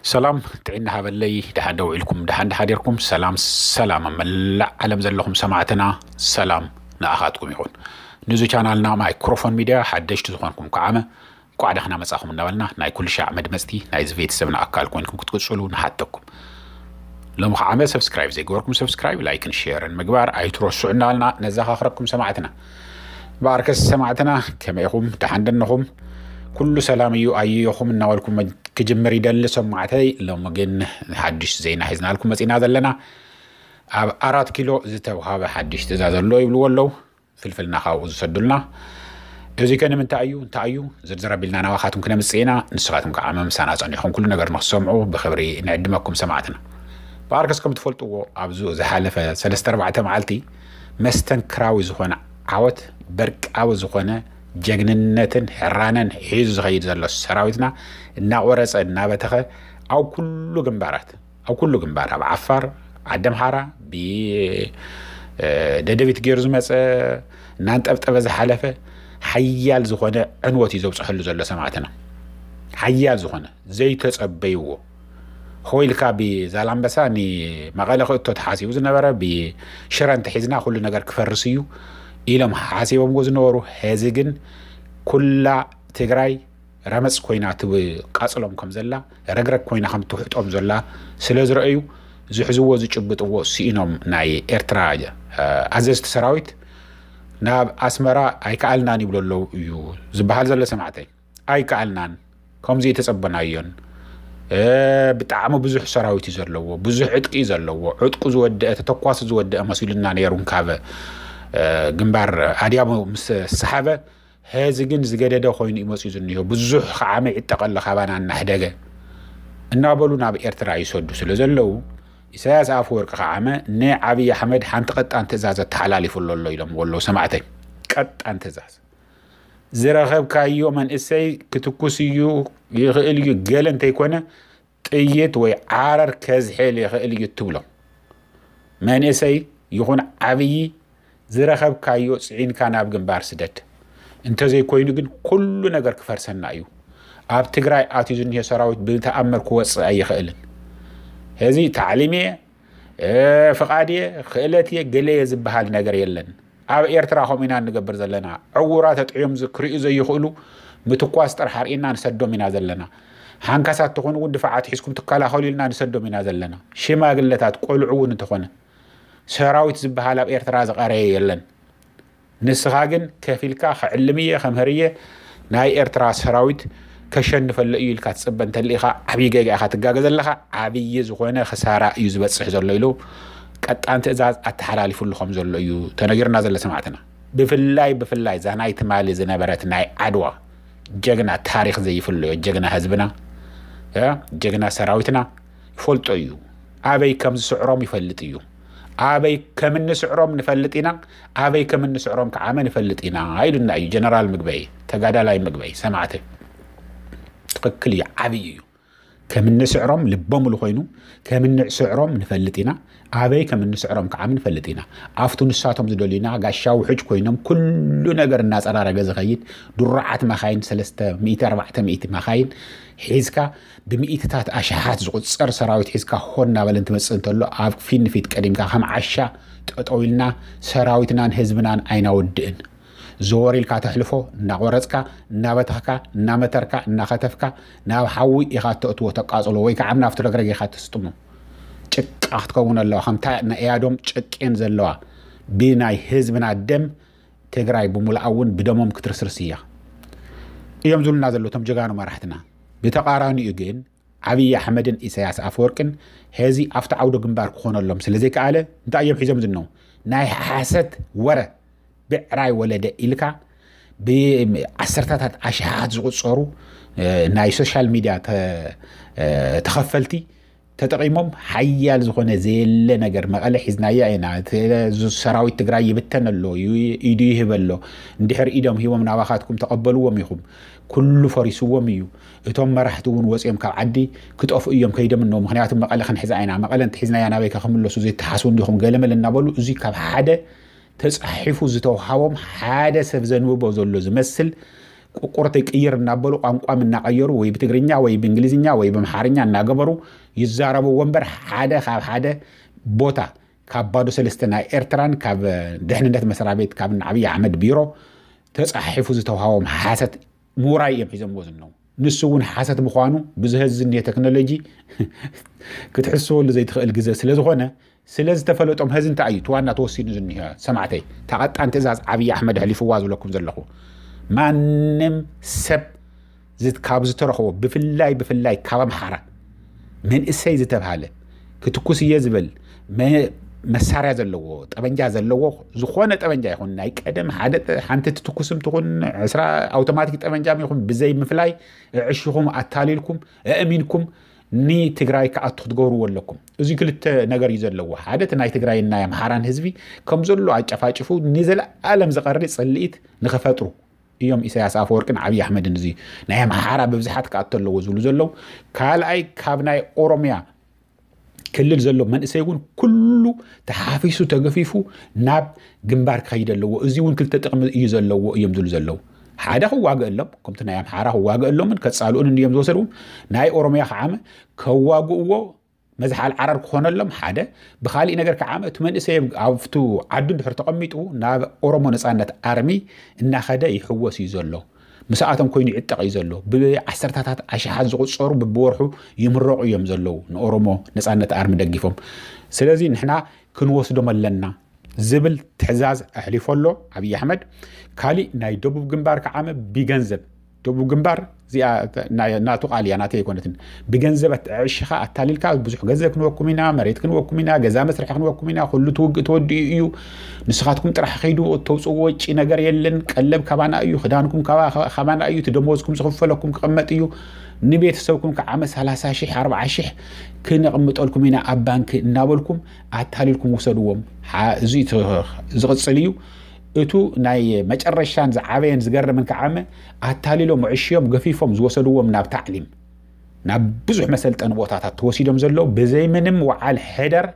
ሰላም ጥዕና ሃበለይ። ደሓን ደው ኢልኩም፣ ደሓን ደሓዲርኩም። ሰላም ሰላም፣ ኣብ መላእ ዓለም ዘለኹም ሰማዕትና፣ ሰላም ንኣኻትኩም ይኹን። ንዚ ቻናልና ማይክሮፎን ሚድያ ሓደሽቲ ዝኾንኩም ከዓመ እንኳዕ ደህና መጻኹም እናበልና፣ ናይ ኩሉ ሻዕ መድመጽቲ ናይዚ ቤተሰብና ኣካል ኮይንኩም ክትቅጽሉ ንሓተኩም። ሎም ከዓመ ሰብስክራይብ ዘይገበርኩም ሰብስክራይብ፣ ላይክን ሼርን ምግባር ኣይትረስዑ እናበልና ነዘኻኽረኩም ሰማዕትና። በኣርከስ ሰማዕትና፣ ከመይ ኢኹም? ደሓን ደነኹም? ኩሉ ሰላም እዩ ኣየኹም እናበልኩም ክጅምር ይደሊ ሰማዕተይ። ሎሚ ግን ሓድሽ ዜና ሒዝናልኩም መጺና ዘለና። ኣብ ኣራት ኪሎ ዝተውሃበ ሓድሽ ትእዛዝ ኣሎ ይብልዎ ኣለዉ። ፍልፍልና ካብኡ ዝሰዱልና። እዚ ከ ንምንታይ እዩ? እንታይ እዩ? ዝርዝር ኣቢልና ናባኻትኩም ክነምጽእ ኢና። ንስኻትኩም ከዓ መምሳና ጸኒሕኩም ኩሉ ነገር ንክትሰምዑ ብኽብሪ ንዕድመኩም ሰማዕትና። በኣርከስ ከም ትፈልጥዎ፣ ኣብዚ ዝሓለፈ ሰለስተ ኣርባዕተ መዓልቲ መስተንክራዊ ዝኾነ ዓወት፣ በርቃዊ ዝኾነ ጀግንነትን ሕራነን ሒዙ ዝኸይድ ዘሎ ሰራዊትና እናቆረጸ እናበተኸ፣ ኣብ ኩሉ ግንባራት፣ ኣብ ኩሉ ግንባር፣ ኣብ ዓፋር፣ ዓዲ ኣምሓራ፣ ብ ደደቢት ገይሩ ዝመጸ፣ እናንጠብጠበ ዝሓለፈ፣ ሓያል ዝኾነ ዕንወት እዩ ዘብጽሐሉ ዘሎ ሰማዕትና። ሓያል ዝኾነ፣ ዘይተጸበይዎ። ሆ ኢልካ ብዛላምበሳ ንመቐለ ክእቶ ተሓሲቡ ዝነበረ፣ ብሽረ እንተሒዝና ኩሉ ነገር ክፈርስ እዩ ኢሎም ሓሲቦምዎ ዝነበሩ፣ ሕዚ ግን ኩላ ትግራይ ረመጽ ኮይና ትቃጽሎም ከም ዘላ፣ ረግረግ ኮይና ከም ትውሕጦም ዘላ ስለ ዝረኣዩ፣ ዝሕዝዎ ዝጭብጥዎ ስኢኖም፣ ናይ ኤርትራ፣ እ፣ ኣዘዝቲ ሰራዊት ናብ ኣስመራ ኣይከኣልናን ይብሉ ኣለዉ እዩ ዝበሃል ዘሎ ሰማዕተይ። ኣይከኣልናን፣ ከምዚ የተጸበናዮን። እ፣ ብጣዕሚ ብዙሕ ሰራዊት እዩ ዘለዎ፣ ብዙሕ ዕጥቂ እዩ ዘለዎ። ዕጥቁ ዝወደአ፣ ተተኳሲ ዝወደአ መሲሉና ነይሩ እንካበ፣ እ፣ ግንባር ኣድያቦ ምስ ሰሓበ፣ ሕዚ ግን ዝገደደ ኮይኑ እዩ መፂኡ ዝኒሆ። ብዙሕ ከዓመ ይዕጠቕ ኣሎ ካባና እናሕደገ እናበሉ ናብ ኤርትራ ይሰዱ ስለ ዘለዉ፣ ኢሳያስ ኣፈወርቂ ከዓመ ንዓብዪ ኣሕመድ ሓንቲ ቀጣን ትእዛዝ ኣተሓላሊፉ ኣሎ ኣሎ ኢሎም ኣለዉ ሰማዕተይ። ቀጣን ትእዛዝ። ዝረኸብካዮ መንእሰይ ክትኩስ እዩ፣ ይኽእል እዩ፣ ገለ እንተይኮነ ጥይት ወይ ዓረር ከዝሕል ይኽእል እዩ ትብሎ። መንእሰይ ይኹን ዓብዪ፣ ዝረኸብካዮ ጽዒንካ ናብ ግንባር ስደድ። እንተዘይኮይኑ ግን ኩሉ ነገር ክፈርሰና እዩ። ኣብ ትግራይ ኣትዩ ዝኒሄ ሰራዊት ብተኣምር ክወጽእ ኣይኽእልን። ሕዚ ታዕሊም እየ፣ እ፣ ፍቓድ እየ፣ ክእለት እየ፣ ገለ እየ ዝበሃል ነገር የለን። ኣብ ኤርትራ ከምኡ ኢና እንገብር ዘለና። ዕዉራት ኣጥዕዮም ዝ-፣ ክርእዩ ዘይኽእሉ ምትኳስ ጥራሕ ኣርእና ንሰዶም ኢና ዘለና። ሓንካሳት ትኾኑ እውን ድፋዓት ሒዝኩም ትከላኸሉ ኢልና ንሰዶም ኢና ዘለና። ሽማግለታት፣ ቆልዑ እውን እንተኾነ፣ ሰራዊት ዝበሃል ኣብ ኤርትራ ዝቐረየ የለን። ንስኻ ግን ከፊልካ ክዕልም እየ፣ ከምህር እየ፣ ናይ ኤርትራ ሰራዊት ከሸንፈሉ እዩ ኢልካ ትጽበ እንተልኢኻ ዓብዪ ጌጋ ኢኻ ትጋገ ዘለኻ። ዓብዪ ዝኾነ ክሳራ እዩ ዝበጽሕ ዘሎ ኢሉ ቀጣን ትእዛዝ ኣተሓላሊፉሉ ከም ዘሎ እዩ ተነጊሩና ዘሎ ሰማዕትና። ብፍላይ፣ ብፍላይ እዛ ናይ ትማሊ ዝነበረት ናይ ዓድዋ ጀግና፣ ታሪኽ ዘይፍለዮ ጀግና ህዝብና፣ እ፣ ጀግና ሰራዊትና ይፈልጦ እዩ። ኣበይ ከም ዝስዕሮም ይፈልጥ እዩ። ኣበይ ከም እንስዕሮም ንፈልጥ ኢና፣ ኣበይ ከም እንስዕሮም ከዓመ ንፈልጥ ኢና ኢሉና እዩ ጀነራል ምግበይ፣ ተጋዳላይ ምግበይ። ሰማዕቲ፣ ትኽክል እዩ፣ ዓብዪ እዩ። ከም እንስዕሮም ልበ ሙሉ ኮይኑ፣ ከም እንስዕሮም ንፈልጥ ኢና፣ ኣበይ ከም እንስዕሮም ከዓመ ንፈልጥ ኢና። ኣብቱ ንሳቶም ዝደልዩና ጋሻ ውሕጅ ኮይኖም ኩሉ ነገር እናጸራረገ ዝኸይድ፣ ድሩዓት መኻይን፣ ሰለስተ ሚእቲ ኣርባዕተ ሚእቲ መኻይን ሒዝካ፣ ብሚእትታት ኣሽሓት ዝቑጸር ሰራዊት ሒዝካ ሆን እናበለ እንትመጽእ እንተሎ፣ ኣብ ፊት ንፊት ቀዲምካ ከም ዓሻ ጠጠው ኢልና ሰራዊትናን ህዝብናን ኣይናወድእን። ዘወር ኢልካ ተሕልፎ፣ እናቖረጽካ፣ እናበተኽካ፣ እናመተርካ፣ እናኸተፍካ፣ ናብ ሓዊ ኢኻ እተእትዎ፣ ተቃጽሎ፣ ወይ ከዓ ናብቲ ረግረግ ኢኻ ተስጥሞ። ጭቃ ክትከውን ኣለዋ፣ ከምታ ናይ እያዶም ጨቄን ዘለዋ፣ ብናይ ህዝብና ደም ትግራይ ብምሉኣ እውን ብደሞም ክትርስርስ እያ እዮም ዝብሉና ዘለዉ እቶም ጀጋኑ መራሕትና። ብተቓራኒኡ ግን፣ ዓብዪ ኣሕመድን ኢሳያስ ኣፈወርቅን ሕዚ ኣብቲ ዓውደ ግንባር ክኾነሎም ስለ ዘይከኣለ፣ እንታይ እዮም ሒዞም ዝነው? ናይ ሓሰት ወረ፣ ብዕራይ ወለደ ኢልካ፣ ብዓሰርታታት ኣሽሓት ዝቑጸሩ፣ እ፣ ናይ ሶሻል ሚድያ ተ-፣ እ፣ ተኸፈልቲ ተጠቒሞም፣ ሓያል ዝኾነ ዘየለ ነገር፣ መቐለ ሒዝናያ ኢና፣ እቲ ሰራዊት ትግራይ ይብተን ኣሎ፣ ዩ-፣ ኢዱ ይህብ ኣሎ፣ እንድሕር ኢዶም ሂቦም ናባኻትኩም ተቐበልዎም ኢኹም፣ ኩሉ ፈሪስዎም እዩ። እቶም መራሕቲ እውን ወፂኦም ካብ ዓዲ ክጠፍኡ እዮም፣ ከይዶም እነው፣ ምኽንያቱ መቐለ ክንሕዛ ኢና፣ መቐለ እንተሒዝናያ ናበይ ከ ክምለሱ ዘይተሓስቡ እንዲኹም፣ ገለመለ እናበሉ፣ እዚ ካብ ሓደ ተጻሒፉ ዝተውሃቦም፣ ሓደ ሰብ ዘንብቦ ዘሎ ዝመስል ቁርቁርተይ ቅይር እናበሉ ቋንቋም እናቐየሩ ወይ ብትግርኛ ወይ ብእንግሊዝኛ ወይ ብኣምሓርኛ እናገበሩ ይዛረብዎ እምበር ሓደ ካብ ሓደ ቦታ ካብ ባዶ ሰለስተ ናይ ኤርትራን ካብ ድሕንነት መስሪያ ቤት ካብ ኣብይ ኣሕመድ ቢሮ ተፃሒፉ ዝተውሃቦም ሓሰት ምውራይ እዮም ሒዞምዎ ዝነው። ንሱ እውን ሓሰት ምዃኑ ብዝህዚ ዝኒሄ ቴክኖሎጂ ክትሕስበሉ ዘይትኽእል ግዜ ስለ ዝኾነ ስለ ዝተፈለጦም ህዚ እንታይ እዩ እቲ ዋና ተወሲኑ ዝኒሀ ሰማዕተይ እታ ቀጣን ትእዛዝ ኣብይ ኣሕመድ ኣሕሊፍዋ ዝብለኩም ዘለኹ ማንም ሰብ ካብ ዝተረኽቦ ብፍላይ ብፍላይ ካብ ኣምሓራ መንእሰይ ዝተብሃለ ክትኩስ እየ ዝበል መሳርያ ዘለዎ ጠበንጃ ዘለዎ ዝኾነ ጠበንጃ ይኹን ናይ ቀደም ሓደ ሓንቲ ትትኩስም ትኹን ዕስራ ኣውቶማቲክ ጠበንጃ ይኹን ብዘይ ምፍላይ እዕሽኹም ኣታሊልኩም እእሚንኩም ንትግራይ ክኣቱ ክትገብርዎ ኣለኩም። እዚ ክልተ ነገር እዩ ዘለዎ። ሓደ እቲ ናይ ትግራይን ናይ ኣምሓራን ህዝቢ ከም ዘሎ ኣጨፋጭፉ ንዘለኣለም ዝቐሪ ፅልኢት ንኽፈጥሩ እዮም ኢሳያስ ኣፈወርቅን ዓብዪ ኣሕመድን እዚ ናይ ኣምሓራ ብብዝሓት ክኣቱ ኣለዎ ዝብሉ ዘለዉ። ካልኣይ ካብ ናይ ኦሮሚያ ክልል ዘሎ መንእሰይ እውን ኩሉ ተሓፊሱ ተገፊፉ ናብ ግንባር ክኸይድ ኣለዎ። እዚ እውን ክልተ ጥቕሚ እዩ ዘለዎ እዮም ዝብሉ ዘለዉ። ሓደ ክዋግእ ኣሎም ከምቲ ናይ ኣምሓራ ክዋግእ ኣሎምን ከፃልኡን እዮም ዝወሰድዎም ናይ ኦሮሚያ ከዓመ ከዋግእዎ መዝሓል ዓረር ክኾነሎም ሓደ ብካሊእ ነገር ከዓመ እቲ መንእሰይ ኣብቱ ዓዱ እንድሕር ተቐሚጡ ናብ ኦሮሞ ነፃነት ኣርሚ እናኸደ ይሕወስ እዩ ዘሎ። ምስኣቶም ኮይኑ ይዕጠቕ እዩ ዘሎ። ብዓሰርታታት ኣሽሓት ዝቑፀሩ ብብወርሑ ይምረቑ እዮም ዘለዉ ንኦሮሞ ነፃነት ኣርሚ ደጊፎም። ስለዚ ንሕና ክንወስዶም ኣለና ዝብል ትሕዛዝ ኣሕሊፎ ኣሎ ኣብይ ኣሕመድ። ካሊእ ናይ ደቡብ ግንባር ከዓመ ብገንዘብ ደቡብ ግንባር እዚኣ ናቱ ቃል እያ ናተይ ኣይኮነትን። ብገንዘብ ኣዕሽኻ ኣታሊልካ ብዙሕ ገንዘብ ክንወኩም ኢና፣ መሬት ክንወኩም ኢና፣ ገዛ መስርሒ ክንወኩም ኢና፣ ኩሉ ትውግእ ተወዲኡ እዩ። ንስኻትኩም ጥራሕ ከይዱ እተውፅዎ ወጪ ነገር የለን። ቀለብ ካባና እዩ፣ ክዳንኩም ካባና እዩ፣ እቲ ደሞዝኩም ዝኽፈለኩም ክቕመጥ እዩ። ንቤተሰብኩም ከዓመ ሰላሳ ሺሕ ኣርባዓ ሺሕ ክነቕምጠልኩም ኢና ኣብ ባንክ እናበልኩም ኣታሊልኩም ውሰድዎም። እዚ ዝቕፅል እዩ። እቱ ናይ መጨረሻን ዝዓበየን ዝገርምን ከዓመ ኣታሊሎም ዕሽዮም ገፊፎም ዝወሰድዎም ናብ ታዕሊም ናብ ብዙሕ መሰልጠኒ ቦታታት ተወሲዶም ዘለዉ ብዘይ ምንም ወዓል ሕደር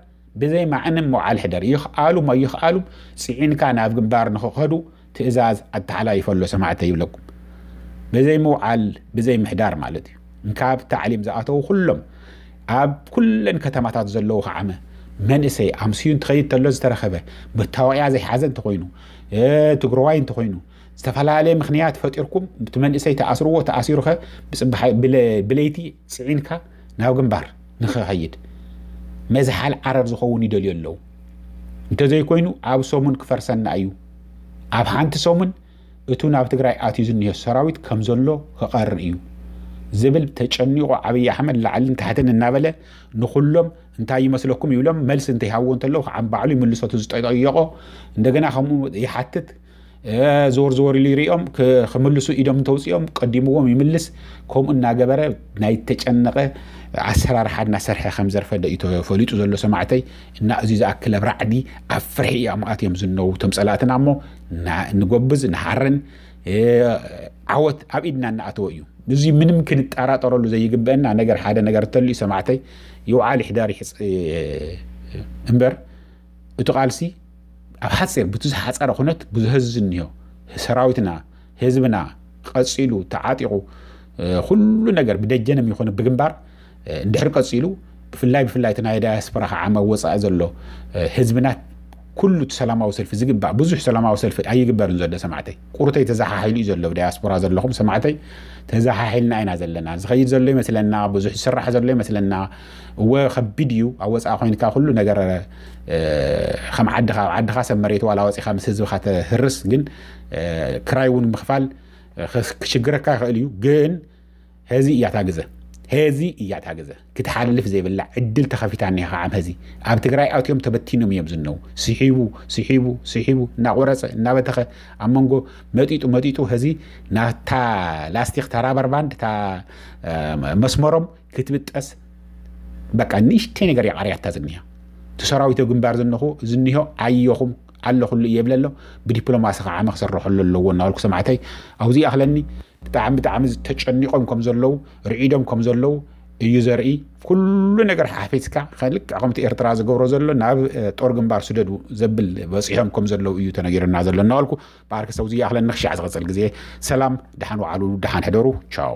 ብዘይ ማዕንም ወዓል ሕደር ይኽኣሉም ኣይኽኣሉም ፅዒንካ ናብ ግንባር ንኽኸዱ ትእዛዝ ኣተሓላይፈ ኣሎ ሰማዕተ ይብለኩም። ብዘይ ምውዓል ብዘይ ምሕዳር ማለት እዩ። እንካብ ታዕሊም ዝኣተዉ ኩሎም ኣብ ኩለን ከተማታት ዘለዉ ከዓመ መንእሰይ ኣምስዩ እንትኸይድ ተሎ ዝተረኸበ መታወቅያ ዘይሓዘ እንተኾይኑ ትግረዋይ እንተኾይኑ ዝተፈላለየ ምክንያት ፈጢርኩም እቲ መንእሰይ ተኣስርዎ ተኣሲሩኸ ብፅባሕ ብለይቲ ፅዒንካ ናብ ግንባር ንክኸይድ መዝሓል ዓረር ዝኸውን ይደልዩ ኣለዉ። እንተዘይኮይኑ ኣብ ሰሙን ክፈርሰና እዩ። ኣብ ሓንቲ ሰሙን እቱ ናብ ትግራይ ኣትዩ ዝኒሀ ሰራዊት ከም ዘሎ ክቐርር እዩ ዝብል ተጨኒቑ ዓብዪ ኣሕመድ ላዕልን ታሕትን እናበለ ንኹሎም እንታይ ይመስለኩም ይብሎም መልሲ እንተይሃብዎ እንተለዉ ከዓ ባዕሉ ይምልሶ እቲ ዝጠየቆ እንደገና ከምኡ ይሓትት። ዞር ዞር ኢሉ ይሪኦም ክምልሱ ኢዶም እንተውፅኦም ቀዲምዎም ይምልስ። ከምኡ እናገበረ ናይ ተጨነቐ ኣሰራርሓ እናሰርሐ ከም ዘርፈደ እዩ ተፈሊጡ ዘሎ ሰማዕተይ። እና እዚ ዝኣክል ኣብ ራዕዲ ኣብ ፍርሒ እዮም ኣትዮም ዝነው እቶም ፀላእትና እሞ ንጎብዝ ንሃርን ዓወት ኣብ ኢድና እናኣተወ እዩ። እዚ ምንም ክንጠራጠረሉ ዘይግበአና ነገር ሓደ ነገር እንተልዩ ሰማዕተይ ይውዓል ይሕደር ይሕፅ እምበር እቲ ቃልሲ ኣብ ሓፂር ብቲ ዝሓፀረ ኩነት ብዙ ህዝቢ ዝኒሆ ሰራዊትና ህዝብና ቀፂሉ ተዓጢቑ ኩሉ ነገር ብደጀንም ይኹን ብግንባር እንድሕር ቀፂሉ ብፍላይ ብፍላይ እቲ ናይ ዳያስፖራ ከዓ መወፃኢ ዘሎ ህዝብና ኩሉ እቲ ሰላማዊ ሰልፊ ዝግባእ ብዙሕ ሰላማዊ ሰልፊ ኣይግበርን ዘሎ ሰማዕተይ ቁርተይ ተዘሓሒሉ እዩ ዘሎ ብዳያስፖራ ዘለኹም ሰማዕተይ ተዘሓሒልና ኢና ዘለና ዝኸይድ ዘሎ ይመስለና ብዙሕ ዝስራሕ ዘሎ ይመስለና እወ ከቢድ እዩ ኣብ ወፃኢ ኮይንካ ኩሉ ነገር ከም ዓድኻ ኣብ ዓድኻ ሰብ መሬት ዋላ ወፂኻ ምስ ህዝብኻ ተህርስ ግን ክራይ እውን ምኽፋል ክሽግረካ ይኽእል እዩ ግን ሄዚ እያ እታ ግዘ ሄዚ እያ እታ ግዘ ክትሓልፍ ዘይብላ ዕድል ተኸፊታ እኒሃ ከዓም ሄዚ ኣብ ትግራይ ኣትዮም ተበቲኖም እዮም ዝነው ስሒቡ ስሒቡ ስሒቡ እናቆረፀ እናበተኸ ኣብ መንጎ መጢጡ መጢጡ ሄዚ ናታ ላስቲክ ተራበርባንድ እታ መስመሮም ክትብጠስ በቃ ንእሽተይ ነገር የቃርያታ ዝኒሃ እቲ ሰራዊት ግንባር ዝንኹ ዝኒሆ ኣየኹም ኣለኹሉ እየ ብለ ኣሎ ብዲፕሎማሲ ከዓ መክሰርሐሉ ኣለዎ እናበልኩ ሰማዕተይ ኣብዚ ኣኽለኒ ብጣዕሚ ብጣዕሚ ተጨኒቆም ከም ዘለዉ ርዒዶም ከም ዘለዉ እዩ ዘርኢ። ኩሉ ነገር ሓፊስካ ከልክ ከምቲ ኤርትራ ዝገብሮ ዘሎ ናብ ጦር ግንባር ስደዱ ዘብል በፂሖም ከም ዘለዉ እዩ ተነጊርና ዘሎ እናበልኩ ብኣርክሰው ዝያኽለን ንኽሻዕ ዝቐፅል ግዜ ሰላም፣ ደሓን ወዓሉ፣ ደሓን ሕደሩ። ቻው።